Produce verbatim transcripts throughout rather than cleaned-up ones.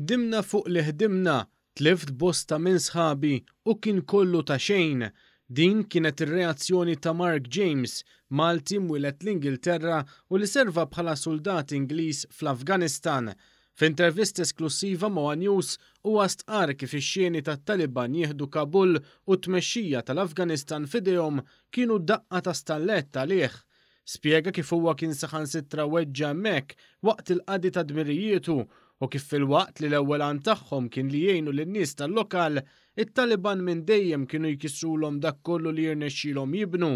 Ħdimna fuq li ħdimna, tlift bosta minn sħabi u kien kollu ta' xejn. Din kienet ir-reazzjoni ta' Mark James, Malti mwieled l-Ingilterra u li serva bħala soldat Ingliż fl-Afganistan. F'intervista esklusiva ma' One News, huwa stqar kif ix-xeni tat-Taliban jieħdu Kabul u t-tmexxija tal-Afganistan f'idejhom kienu daqqa ta' stallett għalih. Spjega kif huwa kien saħansitra weġġa hemmhekk waqt il-qadi ta' dmirijietu u kif filwaqt li l-ewwel għan tagħhom kien li jgħinu lin-nies tal-lokal, it-Taliban minn dejjem kienu jkissrulhom dak kollu li jirnexxilhom jibnu.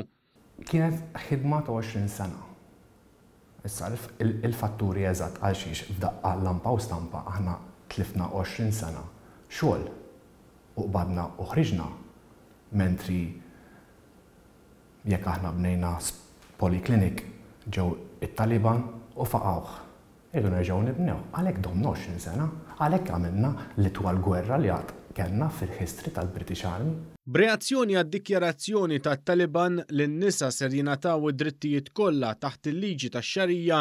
Kienet ħidma ta' għoxrin sena. Issa il-fatturi eżatt għal xiex f'daqqa lampa u stampa aħna tlifna għoxrin sena xogħol u qbadna u ħriġna, mentri jekk aħna bnejna polyclinic ġew it-Taliban u faqgħuh. Irridu nerġgħu nibnew, għalhekk domna għoxrin sena, għalhekk għamilna l-itwal gwerra li għad kellna fil-history tal-British Army. B'reazzjoni għad-dikjarazzjoni tat-Taliban li n-nisa ser jingħataw id-drittijiet kollha taħt il-liġi tax-Xarija,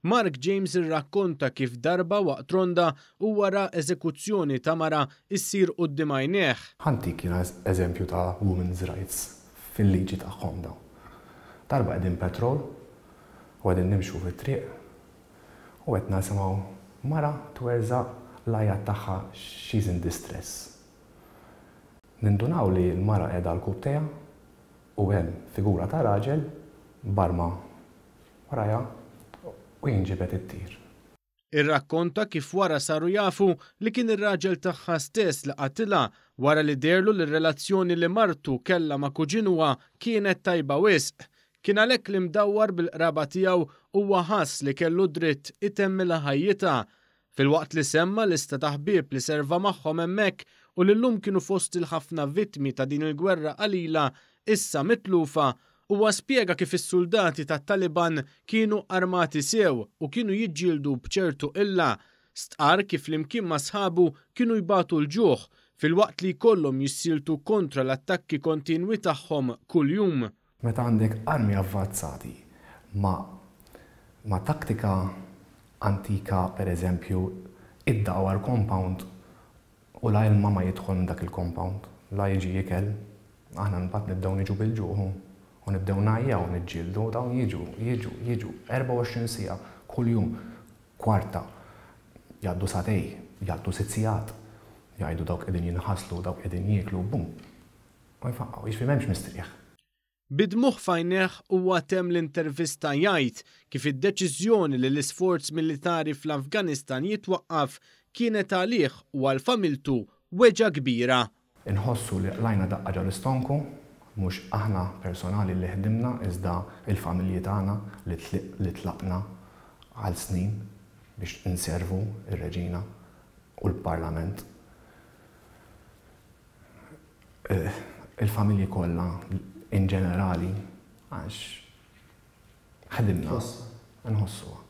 Mark James irrakkonta kif darba waqt ronda u wara eżekuzzjoni ta' mara issir quddiem għajnejh. Ħa ntik jiena eżempju ta' women's rights fil-liġi tagħhom dawn. Darba qegħdin patrol u qegħdin nimxu fit-triq u qed nisimgħu mara twerżaq l-għajat tagħha, she's in distress. Nindunaw li l-mara qiegħda għal-rkubbtejha u hemm figura ta' raġel barma warajha u jinġibed it-tir. Irrakkonta kif wara saru jafu li kien ir-raġel tagħha stess li qatilha wara li deherlu li r-relazzjoni li martu kellha ma' kuġinuha kienet tajba wisq. Kien għalhekk li mdawwar bil-qraba tiegħu huwa ħass li kellu dritt itemmilha ħajjitha. Filwaqt li semma lista ta' ħbieb li serva magħhom hemmhekk u li llum kienu fost il-ħafna vittmi ta' din il-gwerra qalila issa mitlufa, huwa spjega kif is-soldati tat-Taliban kienu armati sew u kienu jiġġieldu b'ċertu illa. Stqar kif flimkien ma' sħabu kienu jbatu l-ġuħ filwaqt li jkollhom jissieltu kontra l-attakki kontinwi tagħhom kuljum. Meta għandek armi avvanzati ma', ma' taktika antika, per eżempju, iddawar compound u la ilma ma jidħol minn dak il-compound, la jiġi ikel, aħna mbagħad nibdew niġu bil-ġuħ u nibdew ngħajjaw niġġieldu, dawn jiġu, jiġu, jiġu, erbgħa u għoxrin siegħa kuljum, kwarta, jgħaddu sagħtejn, jgħaddu sitt sigħat, jgħidu dawk qegħdin jinħaslu, dawk qegħdin jieklu, bum. U jfaqqgħu, jiġifieri m'hemmx mistrieħ. Bid-dmugħ f'għajnejh huwa temm l-intervista jgħid kif id-deċiżjoni li l-isforz militari fl-Afganistan jitwaqqaf kienet għalih u għal familtu weġgħa kbira. Inħossu li qlajna daqqa ġo l-istonku, mhux aħna personali li ħdimna, iżda il-familji tagħna li tli-, li tlaqna għal snin biex inservu ir-reġina u l-parlament. Eh, il-familji kollha in ġenerali, għax ħdimna, nħossuha.